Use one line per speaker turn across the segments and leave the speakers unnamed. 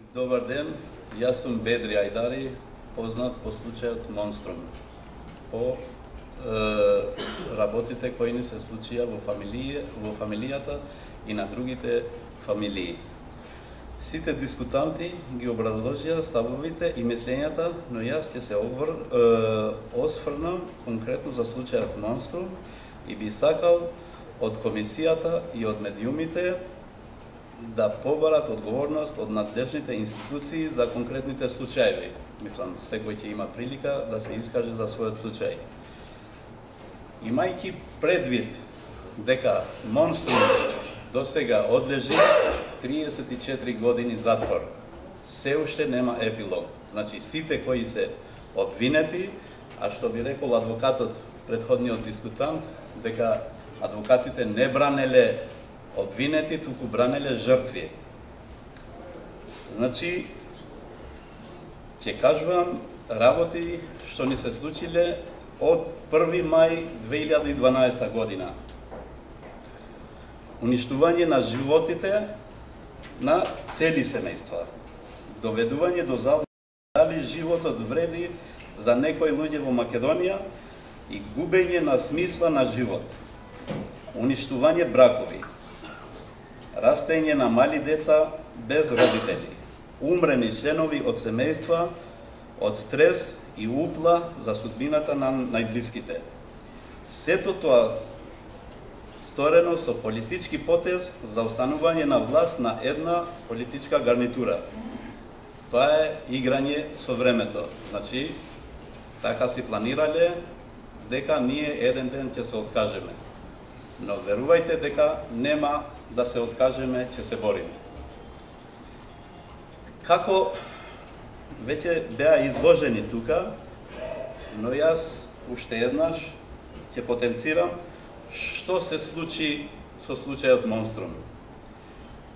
Добар ден, јас сум Бедри Ајдари, познат по случајот Монструм, по работите кои ни се случија во фамилијата и на другите фамилии. Сите дискутанти ги образложија ставовите и мислењата, но јас ќе се осврнам конкретно за случајот Монструм и би сакал од комисијата и од медиумите да побарат одговорност од надлежните институции за конкретните случаи. Мислам, секој ќе има прилика да се искаже за својот случај. Имајќи предвид дека Монструм досега одлежи 34 години затвор, се уште нема епилог. Значи, сите кои се обвинети, а што би рекол адвокатот, претходниот дискутант, дека адвокатите не бранеле обвинети, туку бранеле жртви. Значи, ќе кажувам работи што ни се случиле од 1 мај 2012 година. Уништување на животите на цели семејства. Доведување до забуda дали животот вреди за некои луѓе во Македонија и губење на смисла на живот. Уништување бракови. Растење на мали деца без родители. Умрени членови од семејства од стрес и утла за судбината на најблиските. Сето тоа сторено со политички потез за останување на власт на една политичка гарнитура. Тоа е играње со времето. Значи, така си планирале дека ние еден ден ќе се откажеме. Но верувајте дека нема да се откажеме, ќе се бориме. Како веќе беа изложени тука, но јас уште еднаш ќе потенцирам што се случи со случајот Монструм.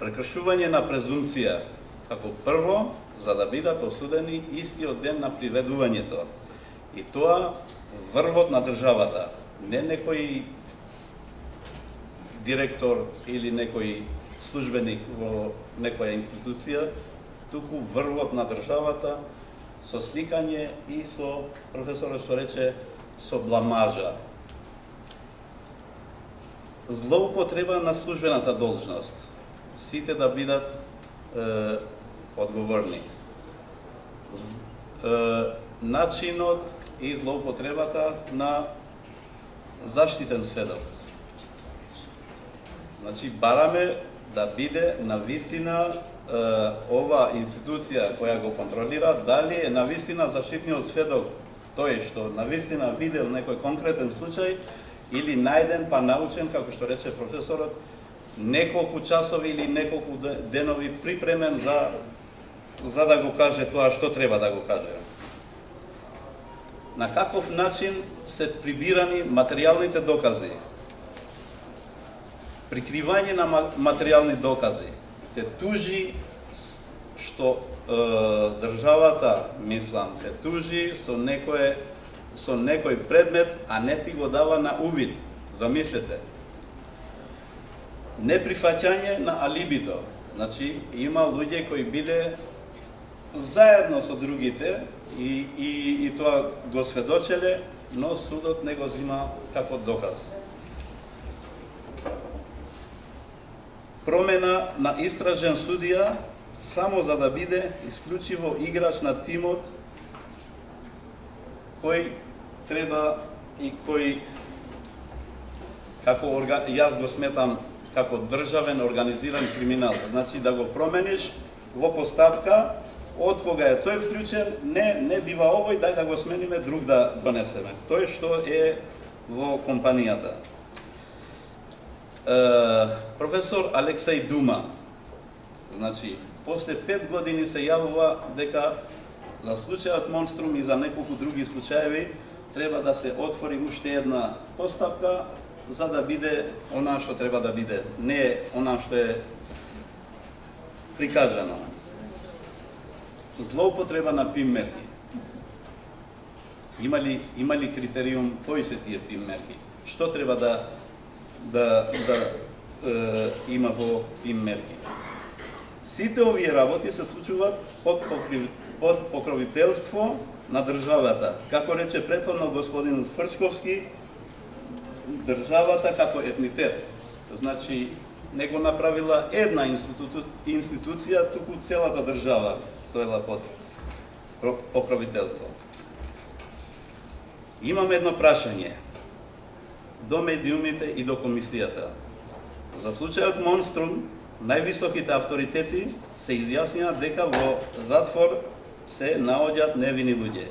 Прекршување на презумпција, како прво, за да бидат осудени истиот ден на приведувањето. И тоа врвот на државата, не некој директор или некој службеник во некоја институција, туку врвот на државата со сликање и со, професорот што рече, со бламажа. Злоупотреба на службената должност. Сите да бидат одговорни. Начинот и злоупотребата на заштитен сведок. Значи, бараме да биде навистина ова институција која го контролира, дали е навистина заштитниот сведок тој што навистина видел некој конкретен случај или најден па научен, како што рече професорот, неколку часови или неколку денови припремен за да го каже тоа што треба да го каже. На каков начин се прибирани материјалните докази? Прикривање на материјални докази. Те тужи што државата, мислам, те тужи со некој предмет, а не ти го дава на увид. Замислете. Неприфаќање на алибито. Значи, има луѓе кои биле заедно со другите и тоа го сведочеле, но судот не го зима како доказ. Промена на истражен судија само за да биде исклучиво играч на тимот кој треба и кој, како јас го сметам, како државен организиран криминал. Значи да го промениш во поставка, од кога е тој вклучен, не бива овој, дај да го смениме, друг да донесеме. Тој што е во компанијата. Професор Алексеј Дума, значи, после 5 години се јавува дека за случајот Монструм и за неколку други случаеви треба да се отвори уште една постапка за да биде она што треба да биде, не она што е прикажано. Злоупотреба на ПИМ мерки. Има ли критериум кои се тие ПИМ мерки? Што треба да има во ПИМ мерки? Сите овие работи се случуваат под покровителство на државата. Како рече претходно господин Фрчковски, државата како етнитет. Значи, не го направила една институција, туку целата држава стоела под покровителство. Имам едно прашање до медиумите и до комисијата. За случајот Монструм, највисоките авторитети се изјаснија дека во затвор се наоѓаат невини луѓе.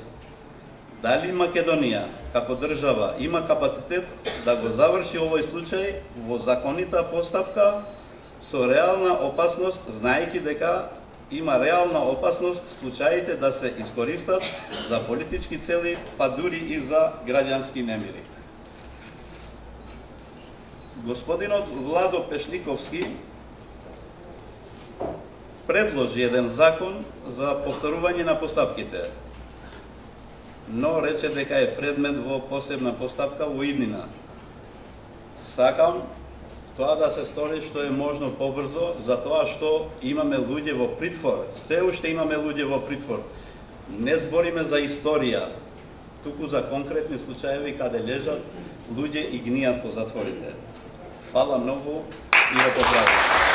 Дали Македонија, како држава, има капацитет да го заврши овој случај во законита постапка со реална опасност, знаејќи дека има реална опасност случаите да се искористат за политички цели, па дури и за граѓански немири. Господинот Владо Пешниковски предложи еден закон за повторување на постапките, но рече дека е предмет во посебна постапка во иднина. Сакам тоа да се стори што е можно побрзо, затоа што имаме луѓе во притвор, се уште имаме луѓе во притвор. Не збориме за историја, туку за конкретни случаеви каде лежат луѓе и гнијат по затворите. Фала многу и го поздравувам.